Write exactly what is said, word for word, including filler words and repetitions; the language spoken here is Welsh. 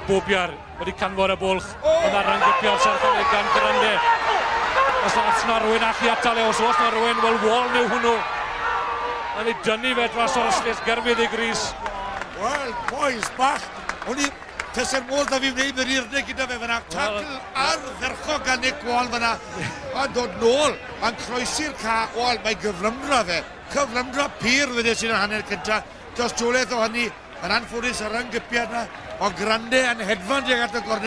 Bobiar wedi canfod y bwlch, ond ar rhyng-gypiad serch hynny gan Grande. Os na na rhywun allu atal e, os oes na rhywun, wel Waln yw hwnnw. Yn ei dynnu fe dros o'r ystlys gerfydd ei gris. Wel, boys bach, o'n i Teser modd da fi wneud yr irnau gyda fe fyna. Tacl ardderchog gan Nick Wall fyna. A dod nôl, a'n croesi'r ca. Wel, mae gyflymdra fe. Cyflymdra pur wedes i'n hanner cynta. Tystiolaeth o hynny, yn anffodus ar rhyng-gypiad yna. O Grande yn hedfan tuag at y gornel.